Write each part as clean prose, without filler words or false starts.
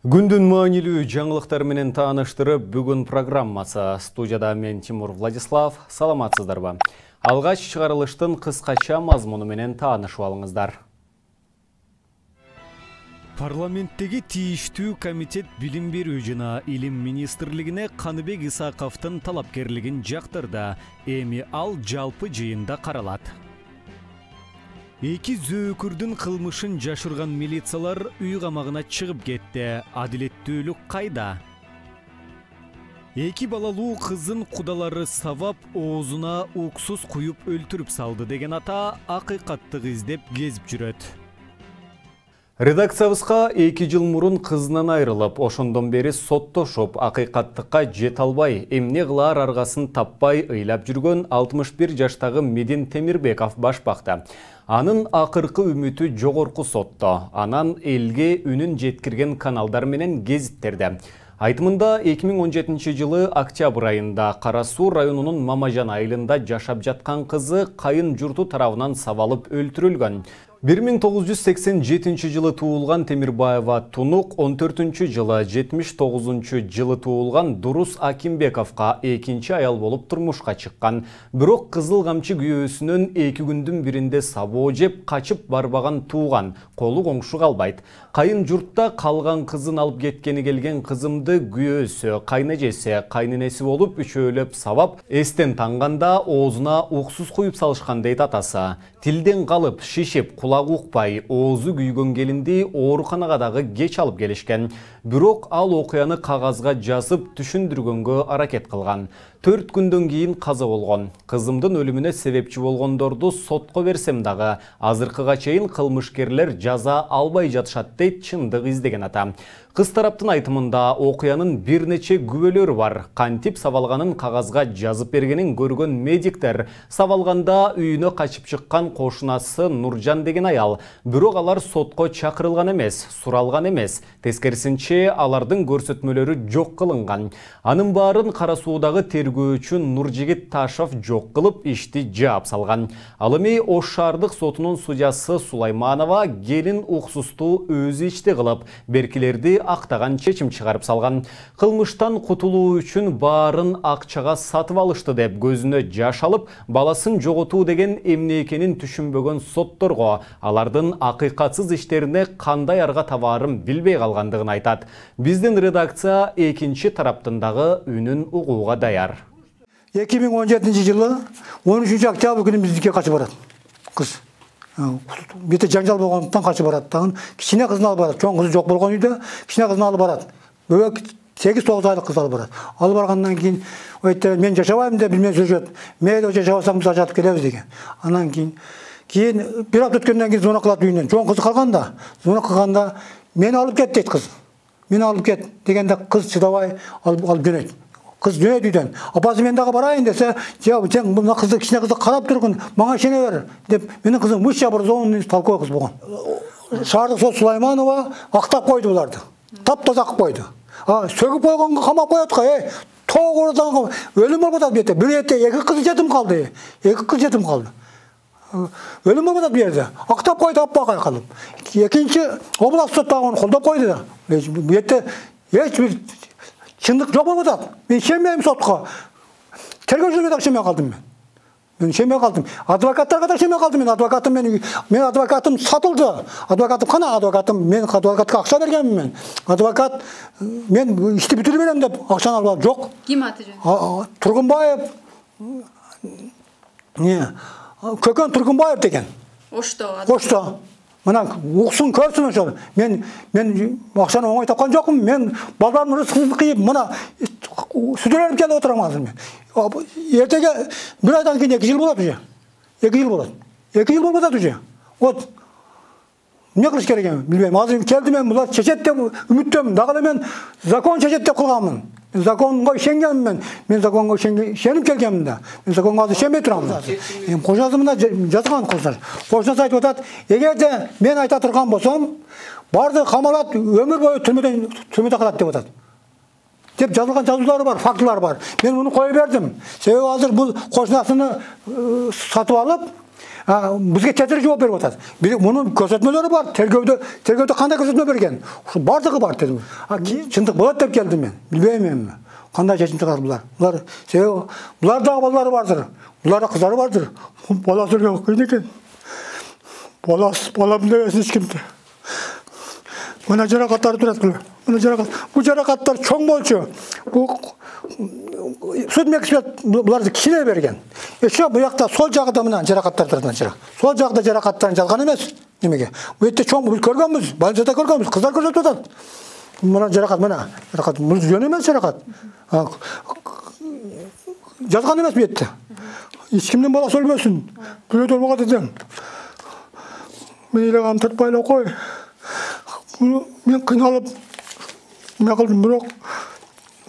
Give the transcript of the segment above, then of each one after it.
Күндүн маанилүү жаңылыктар менен тааныштырып, бүгүн программасы. Студияда мен Тимур Владислав. Саламатсыздарбы? Алгач чыгарылыштын кыскача мазмуну менен таанышып алыңыздар. Парламенттеги тийиштүү комитет билим берүү жана илим министрлигине Каныбек Исаковдун талапкерлигин жактырды. Эми ал жалпы жыйында каралат. Эки зөөкүрдүн кылмышын жашырган милициялар үй камагына чыгып кетти. Адилеттүүлүк кайда? Эки балалуу кызын кудалары сабап, оозуна уксус куюп өлтүрүп салды деген ата акыйкаттык издеп кезип жүрөт. Редакциябызга 2 жыл мурун кызынан айрылып, ошондон бери соттошуп, акыйкаттыкка жете албай, эмне кылаар аргасын таппай ыйлап жүргөн 61 жаштагы Медин Темирбеков башпакта. Анын акыркы үмүтү жогорку сотто, анан элге үнүн жеткирген каналдар менен гезиттерде. Айтымында 2017 жылы октябрь айында Кара Суу районунун Мамажан айылында жашап жаткан кызы кайын журту тарабынан сабалып өлтүрүлгөн. 1987 жылы туулган Темирбаева Тунук, 14 жылы 79 жылы туулган Дурус Акимбековго экинчи аял болуп турмушка чыккан. Бирок кызыл камчы күйөөсүнөн 2 күндүн биринде сабоо жеп качып барбаган тууган, колу коңшу калбайт. Кайын журтта калган кызын алып кеткени келген кызымды күйөөсү, кайнэжеси, кайненеси болуп үчөөлөп сабап, эстен танганда оозуна уксус куюп салышкан дейт атасы. Тилден калып, шишип, кулак укпай, оозу күйгөн келинди ооруканага дагы кеч алып келишкен. Бирок ал окуяны кагазга жазып түшүндүргөнгө аракет кылган. 4 күндөн кийин каза болгон. Кызымдын өлүмүнө себепчи болгондорду сотко берсем дагы, азыркыга чейин кылмышкерлер жаза албай жатышат дейт чындык издеген ата. Кыз тараптын айтымында окуянын бир нече күбөлөрү бар. Кантип сабалганын кагазга жазып бергенин көргөн медиктер, сабалганда үйүнө качып чыккан кошунасы Нуржан деген аял. Бирок алар сотко чакырылган эмес, суралган эмес. Тескерисинче алардын көрсөтмөлөрү жок кылынган. Анын баарын Кара Суудагы тергөөчү Нуржигит Ташов жок кылып, ишти жаап салган. Ал эми Ош шаардык сотунун судьясы Сулайманова келин уксусту өзү ичти кылып, беркилерди актаган чечим чыгарып салган. Кылмыштан кутулуу үчүн баарын акчага сатып алышты деп көзүнө жаш алып, баласын жоготуу деген эмне экенин түшүнбөгөн сотторго алардын акыйкатсыз иштерине кандай арга табаарын билбей калгандыгын айтат. Биздин редакция экинчи тараптын дагы үнүн угууга даяр. 2017 жылы 13 октябрь күнү биздикке качып барат. Кыз бете жаңжал болгондуктан качып барат. Тагын кичине кызын алып барат. Чоң кызы жок болгон үйдө кичине кызын алып барат. Бөбөк 8-9 айлык кыз алып барат. Алып баргандан кийин мен жашабайм деп билмей жүрөт. Мейли жашабасаң биз ажатып келебиз деген. Анан кийин бир апта өткөндөн кийин звонок кылат үйүнөн. Чоң кызы калганда, звонок кылганда мени алып кет дейт кыз. Мени алып кет дегенде кыз чыдабай алып жөнөйт. Кыз жөнөйт үйдөн. Апасы мен дагы барайын десе, сен мына кызды, кичине кызды карап тургун, мага ишене бер деп, менин кызым высший образованный толковый кыз болгон. Шаардык сот Сулайманова актап койду буларды. Таптаза кылып койду. Сөгүп койгонго камап коет го, тоогурдан өлүм болуп атат бете. Бир эте 2 кыз жетим калды. 2 кыз жетим калды. Өлүм болуп атат бу жерде. Актап койду аппага калып. Экинчи область сот дагы колдоп койду. Бу жерде эч бир чындык жок болуп атат. Мен ишенбейм сотко. Тергөөчүлөргө да ишенбей калдым мен. Мен ишенбей калдым. Адвокаттарга да ишенбей калдым. Мен адвокатым сатылды. Адвокатым кана адвокатым? Мен адвокатка акча бергенмин мен. Адвокат мен ишти бүтүрүп берем деп акчаны алып жок. Ким аты жөнү? Тургунбаев. Көкөн Тургунбаев деген. Ошто. Мына уксун көрсүн ошол. Мен акчаны оңой тапкан жокмун. Мен балдарымдын рызкын кыйып, мына сүдөлөнүп келип отурам азыр мен. Эртеге бир айдан кийин 2 жыл болот уже. 2 жыл болот. 2 жыл болуп атат уже. Вот. Эмне кылыш керек эми? Билбейм. Азыр келдим мен булар чечет деп үмүттөмүн. Дагы мен закон чечет деп кылганмын. Законго ишенгенмин. Мен законго ишенип келгенмин да. Мен законго азыр ишенбей турам. Кожасында жазган кыздар. Кожасы айтып атат, эгерде мен айта турган болсом, барды камалат, өмүр бою түрмөдө калат деп атат. Деп жазылган жазуулары бар, фактылар бар. Мен муну кое бердим. Себеби азыр бул кошунасыны сатып алып, Бизге тетир жооп берип атат. Мунун көрсөтмөлөрү бар. Тергөөдө кандай көрсөтмө берген? Ушу бардыгы бар дедим. Кийин чындык болот деп келдим мен. Билбейм эми. Кандай чечим чыгар булар? Себеби булар дагы балдары бардыр. Буларда кыздары бардыр. Бала сүргөн кыйын экен. Балам дебесин эч кимди. Мына жаракаттар турат кылы. Мына жаракат. Бул жаракаттар чоң болчу. Судмексперт буларды кичине берген. Еще бу жакта сол жагында мына жаракаттар турат. Сол жагда жаракаттарын жалган эмес. Немеге? Бу жерде чоң биз көргөнбүз, больницада көргөнбүз, кыздар көрсөтүп атат. Мына жаракат, мына жаракат. Бул жөн эмес жаракат. Жазган эмес бу жерде. Эч кимдин баласы өлбөсүн. Күлөтөр буга дедим. Мен ыйлаган тартпайлап кой. Мен кыйналып эме кылдым, бирок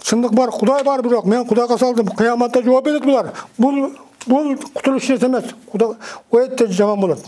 чындык бар, Кудай бар, бирок мен Кудайга салдым. Кыяматта жооп берет булар. Бул кутулуш эмес. Кудай өтө жаман болот.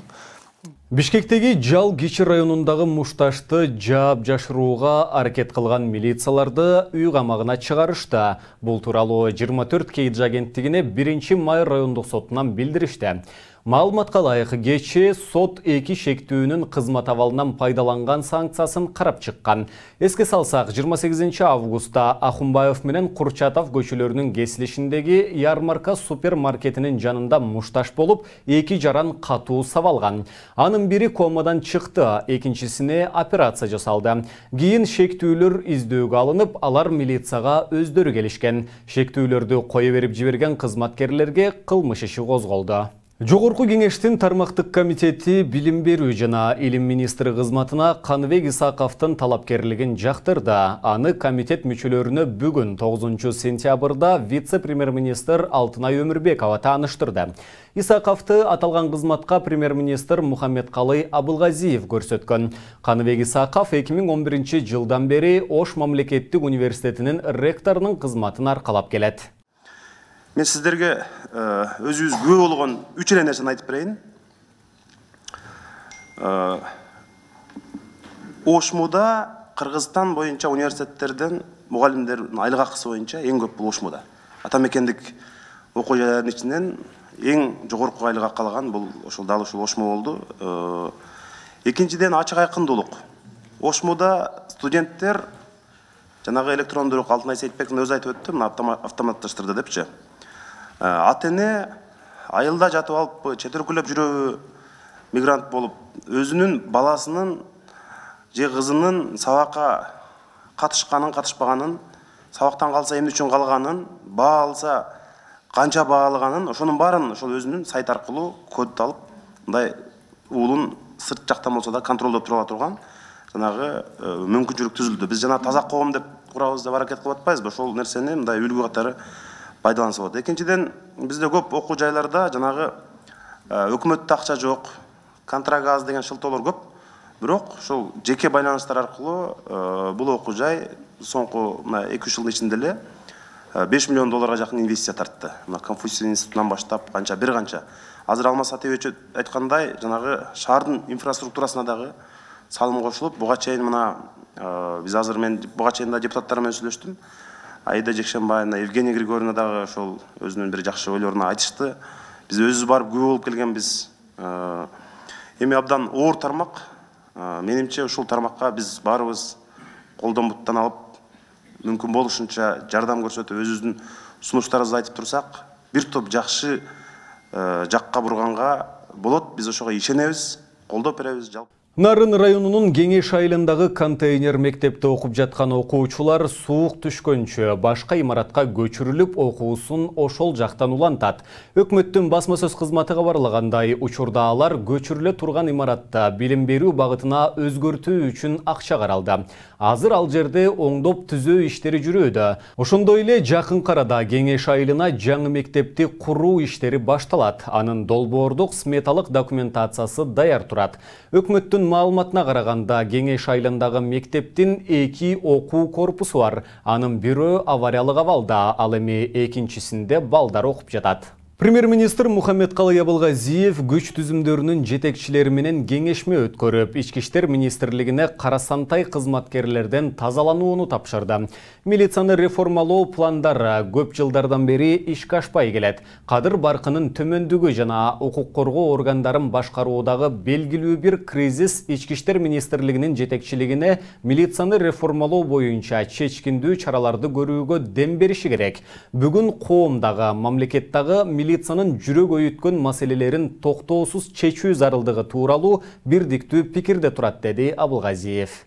Бишкектеги Жал Кичи районундагы мушташты жаап жашырууга аракет кылган милицияларды үй камагына чыгарышты. Бул тууралуу 24 Кейдж агенттигине 1-май райондук сотунан билдиришти. Маалыматка ылайык, кечээ сот 2 шектүүнүн кызмат абалынан пайдаланган санкциясын карап чыккан. Эске салсак, 28 августта Ахунбаев менен Курчатов көчөлөрүнүн кесилишиндеги ярмарка супермаркетинин жанында мушташ болуп, 2 жаран катуу сабалган. Анын бири комадан чыкты, экинчисине операция жасалды. Кийин шектүүлөр издөөгө алынып, алар милицияга өздөрү келишкен. Шектүүлөрдү кое берип жиберген кызматкерлерге кылмыш иши козголду. Жогорку кеңештин тармактык комитети билим берүү жана илим министри кызматына Каныбек Исаковдун талапкерлигин жактырды. Аны комитет мүчөлөрүнө бүгүн 9 сентябрда вице-премьер-министр Алтынай Өмүрбекова тааныштырды. Исаковду аталган кызматка премьер-министр Мухаммедкалый Абылгазиев көрсөткөн. Каныбек Исаков 2011 жылдан бери Ош мамлекеттик университетинин ректорунун кызматын аркалап келет. Мен сиздерге өзүбүз күбө болгон 3 эле нерсени айтып берейин. Ошмуда Кыргызстан боюнча университеттерден мугалимдердин айлык акысы боюнча эң көп бул Ошмуда. Ата мекендик окуу жайлардын ичинен эң жогорку айлык акы алган бул дал ушул Ошмо болду. Экинчиден ачык айкындуулук. Ошмуда студенттер жанагы электрондук Алтынай Сейитбектин өзү айтып өттү, автоматташтырды депчи. Ата-эне айылда жатып алып, чет өлкөлөп жүрөбү, мигрант болуп, өзүнүн баласынын же кызынын сабакка катышканын, катышпаганын, сабактан калса эмне үчүн калганын, баа алса канча баа алганын, ошонун баарын ошол өзүнүн сайт аркылуу код алып, мындай уулун сырт жактан болсо да контролдоп тура турган жанагы мүмкүнчүлүк түзүлдү. Биз жана таза коом деп курабыз деп аракет кылып атпайбызбы? Ошол нерсени мындай үлгү катары пайдаланса болот. Экинчиден, бизде көп окуу жайларда жанагы өкмөттө акча жок, контракт аз деген шылтоолор көп. Бирок ошол жеке байланыштар аркылуу бул окуу жай соңку 2-3 жылдын ичинде эле $5 миллион жакын инвестиция тартты. Мына Конфуций институтунан баштап бир канча. Азыр Алмаз Сатыбек айткандай, жанагы шаардын инфраструктурасына дагы салым кошулуп, буга чейин мына биз азыр мен буга чейин да депутаттар менен сүйлөштүм. Аида Жекшенбаевна, Евгения Григорьевна дагы ошол өзүнүн бир жакшы ойлорун айтышты. Биз өзүбүз барып күбө болуп келгенбиз. Эми абдан оор тармак. Менимче ушул тармакка биз баарыбыз колдон буттан алып, мүмкүн болушунча жардам көрсөтүп, өзүбүздүн сунуштарыбызды айтып турсак, бир топ жакшы жакка бурганга болот. Биз ошого ишенебиз, колдоп беребиз. Нарын районунун Кеңеш айылындагы контейнер мектепте окуп жаткан окуучулар суук түшкөнчө башка имаратка көчүрүлүп, окуусун ошол жактан улантат. Өкмөттүн басма сөз кызматы кабарлагандай, учурда алар көчүрүлө турган имаратта билим берүү багытына өзгөртүү үчүн акча каралды. Азыр ал жерде оңдоп түзөө иштери жүрүүдө. Ошондой эле жакын арада Кеңеш айылына жаңы мектепти куруу иштери башталат. Анын долбоордук сметалык документациясы даяр турат. Өкмөттүн маалыматына караганда, Кеңеш айылындагы мектептин 2 окуу корпусу бар. Анын бирөө авариялык абалда, ал эми экинчисинде балдар окуп жатат. Премьер-министр Мухаммедкалый Абылгазиев күч түзүмдөрүнүн жетекчилери менен кеңешме өткөрүп, Ички иштер министрлигине карасантай кызматкерлерден тазаланууну тапшырды. Милицияны реформалоо пландары көп жылдардан бери ишке ашпай келет. Кадыр баркынын төмөндүгү жана укук коргоо органдарын башкаруудагы белгилүү бир кризис Ички иштер министрлигинин жетекчилигине милицияны реформалоо боюнча чечкиндүү чараларды көрүүгө дем бериши керек. Бүгүн коомдагы, мамлекеттагы милициянын жүрөк өйүткөн маселелерин токтоосуз чечүү зарылдыгы тууралуу бирдиктүү пикирде турат, деди Абылгазиев.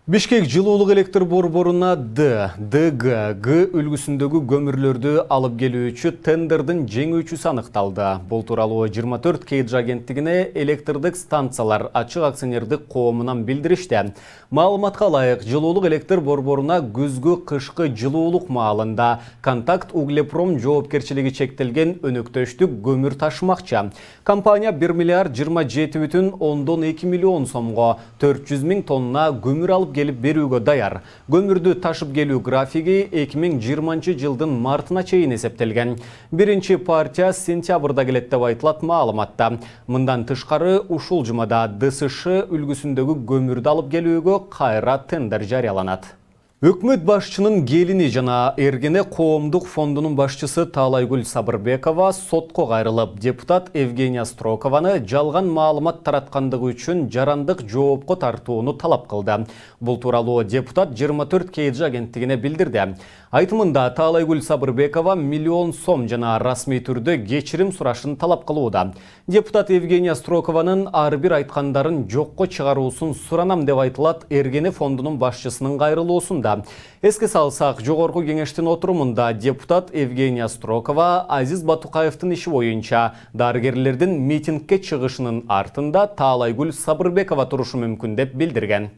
Бишкек жылуулук электр борборуна ДГ үлгүсүндөгү көмүрлөрдү алып келүүчү тендердин жеңүүчүсү аныкталды. Бул тууралуу 24 KG агенттигине электрдик станциялар ачык акционердик коомунан билдиришти. Маалыматка ылайык, жылуулук электр борборуна күзгү кышкы жылуулук маалында Контакт Углепром жоопкерчилиги чектелген өнөктөштүк көмүр ташымакчы. Компания 1 миллиард 27,2 миллион сомго 400 000 тонна көмүр алып келип берүүгө даяр. Көмүрдү ташып келүү графиги 2020 жылдын мартына чейин эсептелген. Биринчи партия сентябрда келет деп айтылат маалыматта. Мындан тышкары ушул жумада ДСШ үлгүсүндөгү көмүрдү алып келүүгө кайра тендер жарыяланат. Өкмөт башчынын келини жана Эргене коомдук фондунун башчысы Таалайгүл Сабырбекова сотко кайрылып, депутат Евгения Строкованы жалган маалымат тараткандыгы үчүн жарандык жоопко тартууну талап кылды. Бул тууралуу депутат 24 KG агенттигине билдирди. Айтымында Таалайгүл Сабырбекова миллион сом жана расмий түрдө кечирим сурашын талап кылууда. Депутат Евгения Строкованын ар бир айткандарын жокко чыгаруусун суранам деп айтылат Эргене фондунун башчысынын кайрылуусунда. Эске салсак, жогорку кеңештин отурумунда депутат Евгения Строкова Азиз Батукаевдин иши боюнча дарыгерлердин митингке чыгышынын артында Таалайгүл Сабырбекова турушу мүмкүн деп билдирген.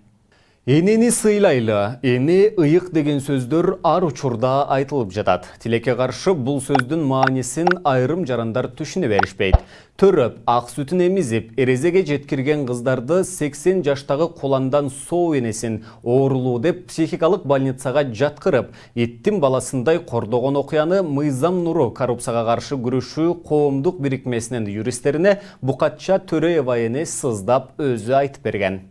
Энени сыйлайлы, эне ыйык деген сөздөр ар учурда айтылып жатат. Тилекке каршы бул сөздүн маанисин айрым жарандар түшүнө беришпейт. Төрөп, ак сүтүн эмизип, эрезеге жеткирген кыздарды 80 жаштагы куландан соо энесин оорулуу деп психикалык больницага жаткырып, иттин баласындай кордогон окуяны Мыйзам Нуру коррупцияга каршы күрөшүү коомдук бирикмесинин юристтерине Букатча Төрөева эне сыздап өзү айтып берген.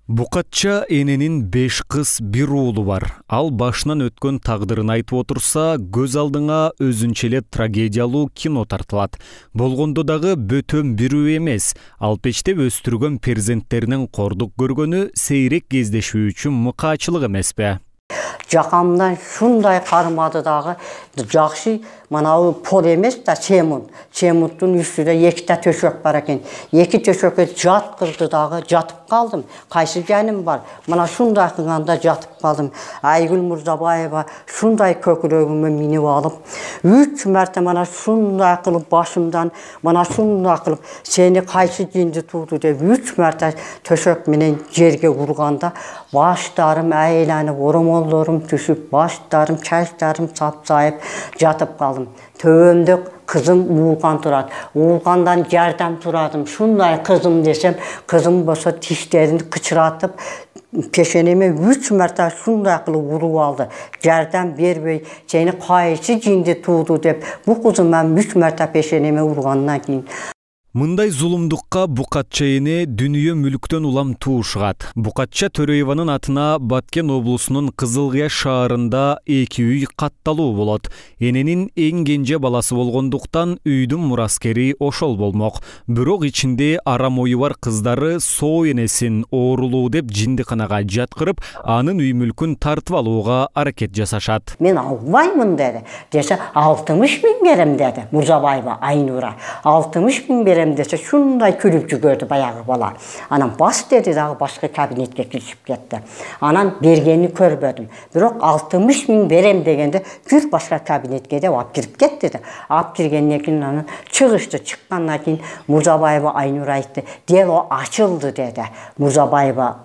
Букатча эненин 5 кыз 1 уулу бар. Ал башынан өткөн тагдырын айтып отурса, көз алдыңа өзүнчө эле трагедиялуу кино тартылат. Болгондо дагы бөтөн бирөө эмес. Алпечтеп өстүргөн перзенттеринин кордук көргөнү сейрек кездешүү үчүн мыкаачылык эмеспи? Жакамдан шундай кармады дагы, жакшы манабы пол эмес да чемунт. Чемунттун үстүндө 2 та төшөк бар экен. 2 төшөккө жаткырды дагы, жатып калдым. Кайсы жаным бар? Мана шундай кылганда жатып калдым. Айгүл Мурзабаева шундай көкүрөгүмө минип алып, 3 марта мана шундай кылып башымдан, мана шундай кылып сени кайсы жинди тууду деп 3 марта төшөк менен жерге урганда баштарым айланып, оромолдорум түшүп, баштарым, чачтарым сапсайып жатып калдым. Төбөмдө кызым уулган турат. Уулгандан жардам турадым. Шундай кызым десем, кызым болсо тиштерин кычыратып, пешенеме 3 марта шундай кылып уруп алды. Жардам бербей, сени кайсы жинди тууду деп, бу кызымдан 3 марта пешенеме ургандан кийин Мындай зулумдукка Букатча эне дүнүйө мүлктөн улам туушугат. Букатча Төрөеванын атына Баткен облусунун Кызылкыя шаарында 2 үй катталуу болот. Эненин эң кенже баласы болгондуктан үйдүн мураскери ошол болмок. Бирок ичинде арам ою бар кыздары соо энесин оорулуу деп жиндиканага жаткырып, анын үй мүлкүн тартып алууга аракет жасашат. Мен албаймын деди. Десе 60 000 берем деди Мурзабаева Айнура. 60 000 берем десе шундай күлүп жүгөрдү баягы бала. Анан бас деди дагы башка кабинетке киришип кетти. Анан бергени көрбөдүм. Бирок 60 000 берем дегенде күр башка кабинетке деп алып кирип кетти. Алып киргенден кийин анан чыгышты. Чыккандан кийин Мурзабаева Айнура айтты. Дело ачылды деди. Мурзабаева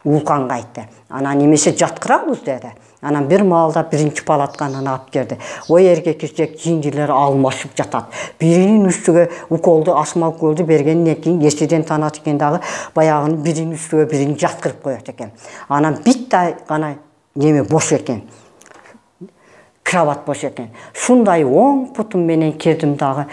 Улканга айтты. Анан немесе жаткырабыз деди. Анан бир маалда биринчи палатканы алып келди. Ой эркек жиндилер алмашып жатат. Биринин үстүгө уколду, астма уколду бергенден кийин эсиден танат экен дагы баягынын биринин үстүгө бирин жаткырып коет экен. Анан битте гана неме бош экен. кровать бош экен. Шундай оң путум менен кирдим дагы.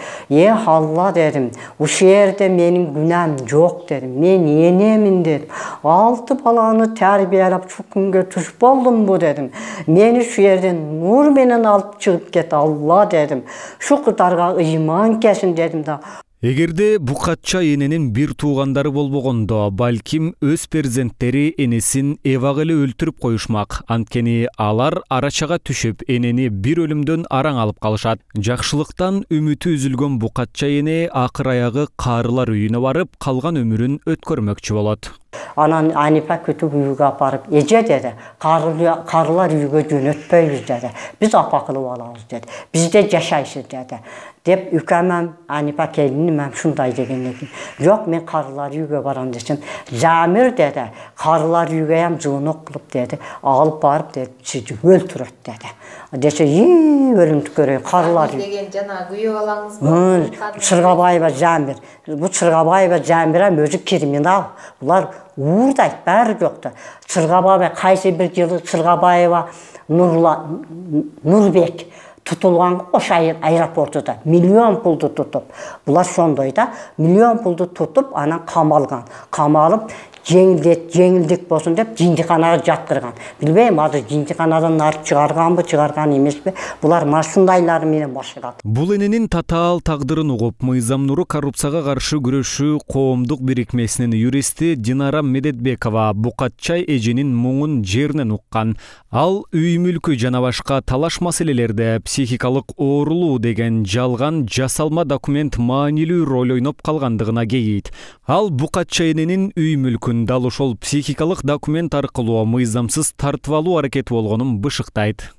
Алла дедим, ушул жерде менин күнәм жок дедим. Мен энемин дедим. 6 баланы тарбиялап şu күнгө туш болдумбу дедим. Мени şu жерден нур менен алып чыгып кет Алла дедим. Şu кытарга ыйман кесин дедим да. Эгерде Букатча эненин бир туугандары болбогондо, балким өз перзенттери энесин эбак эле өлтүрүп коюшмак. Анткени алар арачага түшүп, энени бир өлүмдөн араң алып калышат. Жакшылыктан үмүтү үзүлгөн Букатча эне акыр аягы карылар үйүнө барып, калган өмүрүн өткөрмөкчү болот. Анан Анипа күтүп үйгө апарып, эже деди, карылар үйгө жөнөтпөйбүз деди. Биз апа кылып алабыз деди. Бизде жашайсыз деди. Деп үкәмәм Анипа келиним шундай деген экен. Жок, мен карылар үйгө барам десем, Замир деди, карылар үйгө ham жуунок кылып деди, алып барып деди, сизди өлтүрөт деди. Десе, өлүмдү көрөй, карылар деген жана күйөө балаңыз Чыргабаева Замир. Бу Чыргабаева Замир өзү криминал. Булар уурдайт, баары жокту. Чыргабаева кайсы бир жылы Чыргабаева Нурбек tutulgan Oşayır aeroportuda milyon puldu tutup. Bular şondoy da milyon puldu tutup anan kamalgan. Kamalып жеңилдик болсун деп жиндиканага жаткырган. Билбейм, азыр жиндиканадан нарып чыгарганбы, чыгарган эмеспи? Булар машундайлары менен башкарат. Бул эненин татаал тагдырын угуп, Мыйзам Нуру коррупцияга каршы күрөшүү коомдук бирикмесинин юристи Динара Медетбекова Букатча эженин муңун жеринен уккан. Ал үй мүлкү жана башка талаш маселелерде психикалык оорулуу деген жалган жасалма документ маанилүү роль ойноп калгандыгына кейийт. Ал Букатча эненин үй мүлкүн дал ошол психикалык документ аркылуу мыйзамсыз тартып алуу аракети болгонун бышыктайт.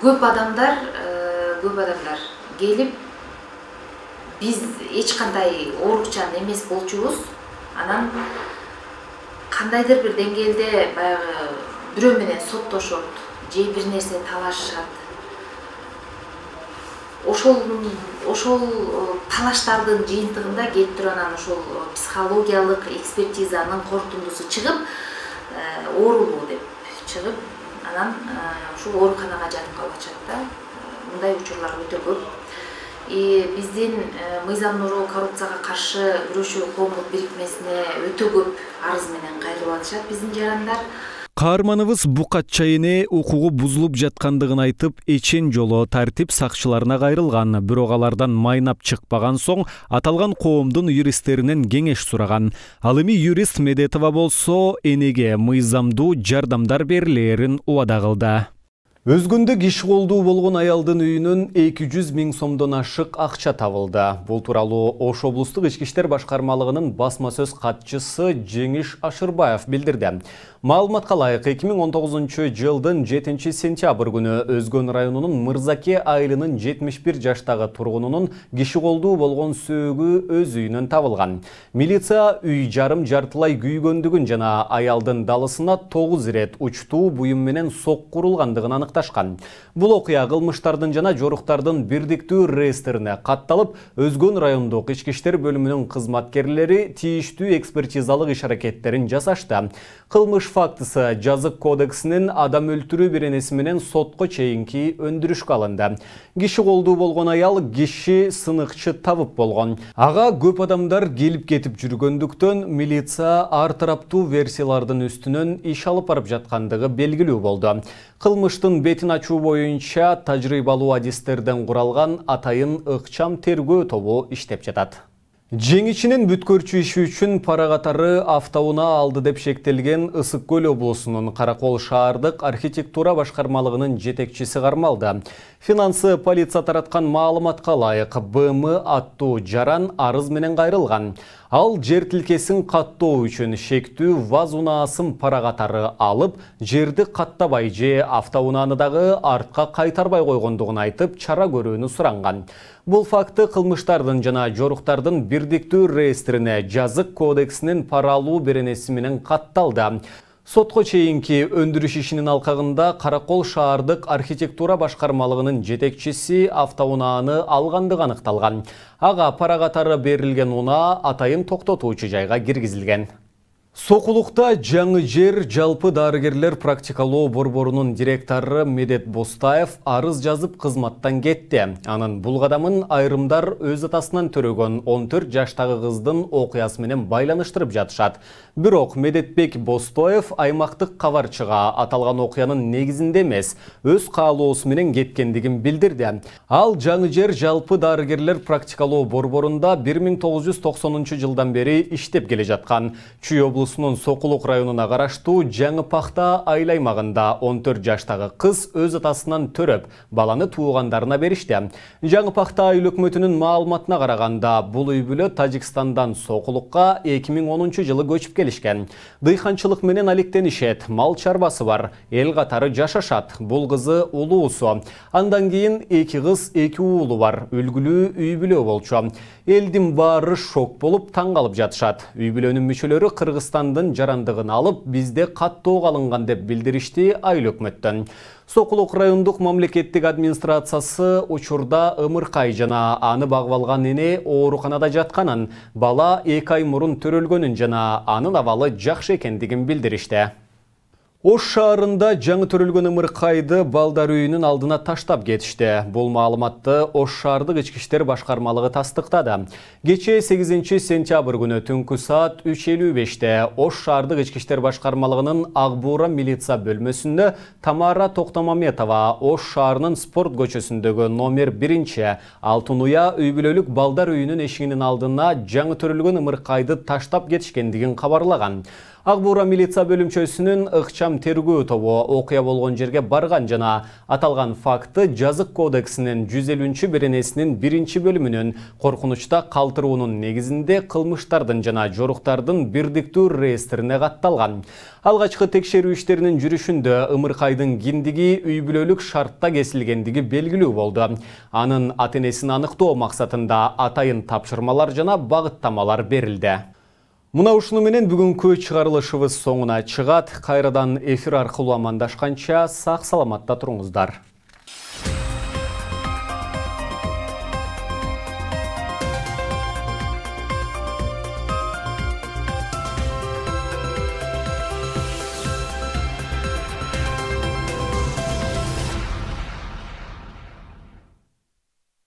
Көп адамдар келип биз эч кандай оорукчан эмес болчубуз. Анан кандайдыр бир деңгээлде баягы бирөө менен соттошот, же бир нерсе талашышат. Ошол талаштардын жыйынтыгында келип туруп анан ошол психологиялык экспертизанын корутундусу чыгып, оорулуу деп чыгып, анан ушул ооруканага жатып калышат да. Мындай учурлар өтө көп. Биздин Мыйзам Нуру коррупцияга каршы күрөшүү коомдук бирикмесине өтө көп арыз менен кайрылып атышат биздин жарандар. Каарманыбыз Букатча эне укугу бузулуп жаткандыгын айтып, эчен жолу тартип сакчыларына кайрылган. Бирок алардан майнап чыкпаган соң аталган коомдун юристтеринен кеңеш сураган. Ал эми юрист Медетова болсо энеге мыйзамдуу жардамдар берилерин убада кылды. Өзгөндө киши колдуу болгон аялдын үйүнөн 200 000 сомдон ашык акча табылды. Бул тууралуу Ош облустук ички иштер башкармалыгынын басма сөз катчысы Жеңиш Ашырбаев билдирди. Маалыматка ылайык 2019 жылдын 7 сентябрь күнү Өзгөн районунун Мырзаке айылынын 71 жаштагы тургунунун киши колдуу болгон сөөгү өз үйүнөн табылган. Милиция үй жарым жартылай күйгөндүгүн жана аялдын далысына 9 ирет учтуу буюм менен соккурулгандыгын аныкташкан. Бул окуя кылмыштардын жана жоруктардын бирдиктүү реестрине катталып, Өзгөн райондук ички иштер бөлүмүнүн кызматкерлери тийиштүү экспертизалык иш-аракеттерин жасашты. Кылмыш фактысы жазык кодексинин адам өлтүрүү беренеси менен сотко чейинки өндүрүшкө алынды. Киши колдуу болгон аял киши сыныкчы табып болгон. Ага көп адамдар келип кетип жүргөндүктөн милиция ар тараптуу версиялардын үстүнөн иш алып барып жаткандыгы белгилүү болду. Кылмыштын бетин ачуу боюнча тажрыйбалуу адистерден куралган атайын ыкчам тергөө тобу иштеп жатат. Жеңичинин бүткөрчү иши үчүн пара катары автоунаа алды деп шектелген Ысык Көл облусунун Каракол шаардык архитектура башкармалыгынын жетекчиси кармалды. Финансы полиция тараткан маалыматка ылайык БМ аттуу жаран арыз менен кайрылган. Ал жер тилкесин каттоо үчүн шектүү ВАЗ унаасын пара катары алып, жерди каттабай же автоунааны дагы артка кайтарбай койгондугун айтып, чара көрүүнү суранган. Бул факты кылмыштардын жана жоруктардын бирдиктүү реестрине жазык кодексинин пара алуу беренеси менен катталды. Сотко чейинки өндүрүш ишинин алкагында Каракол шаардык архитектура башкармалыгынын жетекчиси автоунааны алгандыгы аныкталган. Ага пара катары берилген унаа атайын токтотуучу жайга киргизилген. Сокулукта жаңы жер жалпы дарыгерлер практикалоо борборунун директору Медет Бостаев арыз жазып кызматтан кетти. Анын бул кадамын айрымдар өз атасынан төрөгөн 14 жаштагы кыздын окуясы менен байланыштырып жатышат. Бирок Медетбек Бостаев аймактык кабарчыга аталган окуянын негизинде эмес, өз каалоосу менен кеткендигин билдирди. Ал жаңы жер жалпы дарыгерлер практикалоо борборунда 1990 жылдан бери иштеп келе жаткан. Чүй облусунун Сокулук районуна караштуу Жаңы Пахта айыл аймагында 14 жаштагы кыз өз атасынан төрөп, баланы туугандарына беришти. Жаңы Пахта айыл өкмөтүнүн маалыматына караганда, бул үй бүлө Тажикстандан Сокулукка 2010 жылы көчүп келишкен. Дыйканчылык менен алектенишет, мал чарбасы бар, эл катары жашашат. Бул кызы улуусу. Андан кийин 2 кыз, 2 уулу бар, үлгүлүү үй бүлө болчу. Элдин баары шок болуп таң калып жатышат. Үй бүлөнүн мүчөлөрү Кыргызстандын жарандыгын алып, бизде каттоо калынган деп билдиришти айыл өкмөттөн. Сокулук райондук мамлекеттик администрациясы учурда ымыркай жана аны багып алган эне ооруканада жатканын, бала 2 ай мурун төрөлгөнүн жана анын абалы жакшы экендигин билдиришти. Ош шаарында жаңы төрөлгөн ымыркайды балдар үйүнүн алдына таштап кетишти. Бул маалыматты Ош шаардык ички иштер башкармалыгы тастыктады. Кечээ 8 сентябрь күнү түнкү саат 3:55-те Ош шаардык ички иштер башкармалыгынын Ак Буура милиция бөлмөсүндө Тамара Токтомаметова Ош шаарынын спорт көчөсүндөгү номер 1 Алтын Уя үй бүлөлүк балдар үйүнүн эшигинин алдына жаңы төрөлгөн ымыркайды таштап кетишкендигин кабарлаган. Ак Буура милиция бөлүмчөсүнүн ыкчам тергөө тобу окуя болгон жерге барган жана аталган факты Жазык кодексинин 150-беренесинин 1-бөлүмүнүн коркунучта калтыруунун негизинде кылмыштардын жана жоруктардын бирдиктүү реестрине катталган. Алгачкы текшерүү иштеринин жүрүшүндө ымыркайдын киндиги үй бүлөлүк шартта кесилгендиги белгилүү болду. Анын ата-энесин аныктоо максатында атайын тапшырмалар жана багыттамалар берилди. Мына ушуну менен бүгүнкү чыгарылышыбыз соңуна чыгат. Кайрадан эфир аркылуу амандашканча сак саламатта туруңуздар.